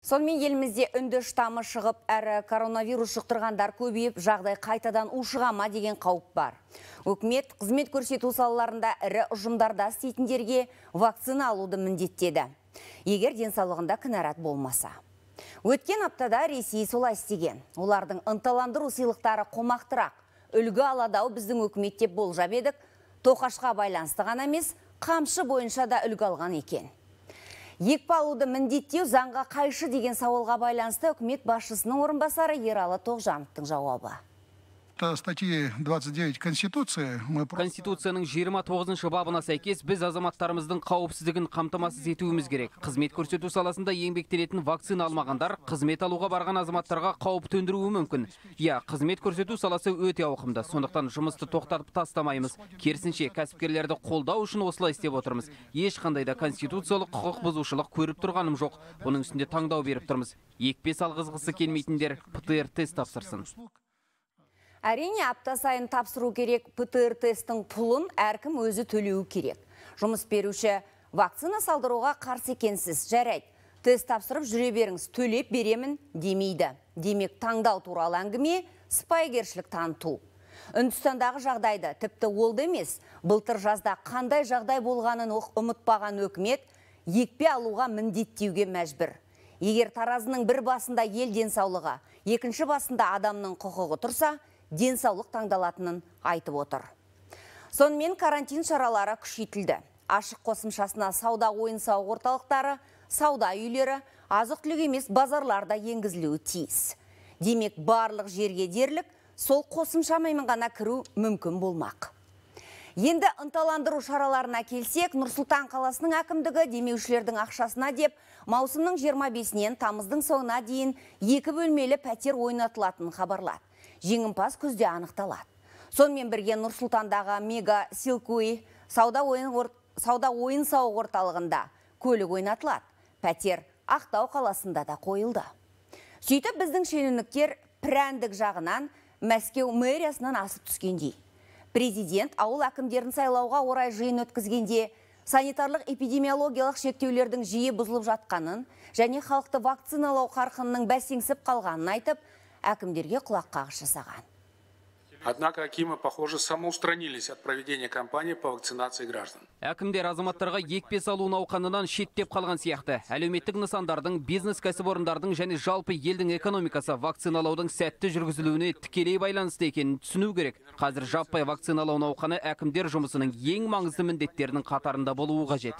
Сонымен елімізде үнді штамы шығып, әрі коронавирус жұқтырғандар көбейіп, жағдай қайтадан ушығама деген қауіп бар. Өкімет қызмет көрсету салаларында ірі ұжымдарда істейтіндерге вакцина алуды міндеттеді, егер денсаулығында кінәрат болмаса. Өткен аптада Ресей солай істеген. Олардың ынталандыру сыйлықтары қомақтырақ. Үлгі аладау біздің өкімет деп болжап едік, тоқашқа байланысты ғана емес, қамшы бойынша да үлгі алған екен. Екпе алуды міндеттеу заңға қайшы деген сауалға байланысты үкімет басшысының орынбасары Ералы Тоғжановтың жауабы. Статьи 29 Конституции. Конституцияның 29 бабына сәйкес біз азаматтарымыздың қауіпсіздігін қамтамасыз етуіміз керек. Қызмет көрсету саласында еңбектенетін вакцина алмағандар қызмет алуға барған азаматтарға қауіп төндіруі мүмкін. Қызмет көрсету саласы өте ауқымды. Сондықтан жұмысты тоқтатып тастамаймыз. Керісінше, кәсіпкерлерді қолдау үшін осылай істеп отырмыз. Ешқандай да конституциялық құқық бұзушылық көріп тұрғаным жоқ. Оның үстінде таңдау беріп тұрмыз. Екпе салғызғысы келмейтіндер ПТР тест тапсырсын. Әрине, апта сайын тапсыру керек. ПТР тесттің пұлын әркім өзі төлеуі керек. Жұмыс беруші вакцина салдыруға қарсы екенсіз, жарайды. Тест тапсырып жүре беріңіз, төлеп беремін демейді. Демек, таңдау туралы әңгіме сыпайыгершілік таныту. Үндістандағы жағдайды тіпті олды емес, былтыр жазда қандай жағдай болғанын ұмытпаған өкімет екпе алуға міндеттеуге мәжбүр. Егер таразының бір басында ел денсаулығы, екінші басында адамның құқығы тұрса, денсаулық таңдалатынын айтып отыр. Сонымен карантин шаралары күшейтілді. Ашық қосымшасына сауда ойын-сауық орталықтары, сауда үйлері, азық-түлік емес базарларда енгізілуі тиіс. Демек, барлық жерге дерлік сол қосымшамен ғана кіру мүмкін болмақ. Енді ынталандыру шараларына келсек, Нұр-Сұлтан қаласының әкімдігі демеушілердің ақшасына деп маусымның 25-нен тамыздың соңына дейін 2 бөлмелі пәтер ойнатылатынын хабарлады. Жеңімпаз күзде анықталады. Сонымен бірге Нұр-Сұлтандағы Мега Силкуи сауда ойын-сауық орталығында көлік ойнатылады. Пәтер Ақтау қаласында да қойылды. Сөйтіп біздің шенеуніктер прәндік жағынан Мәскеу мэриясынан асып түскендей. Президент ауыл әкімдерін сайлауға орай жиын өткізгенде санитарлық эпидемиологиялық шектеулердің жиі бұзылып жатқанын және халықты вакциналау қарқынының бәсеңсіп қалғанын айтып, әкімдерге құлақ қағыс жасаған. Однако акимы, похоже, самоустранились от проведения кампании по вакцинации граждан. Әкімдер азаматтарға екпе салу науқанынан шеттеп қалған сияқты. Әлеуметтік нысандардың, бизнес кәсіпорындардың және жалпы елдің экономикасы вакциналаудың сәтті жүргізілуіне тікелей байланысты екенін түсіну керек. Қазір жаппай вакциналау науқаны әкімдер жұмысының ең маңызды міндеттерінің қатарында болуы қажет.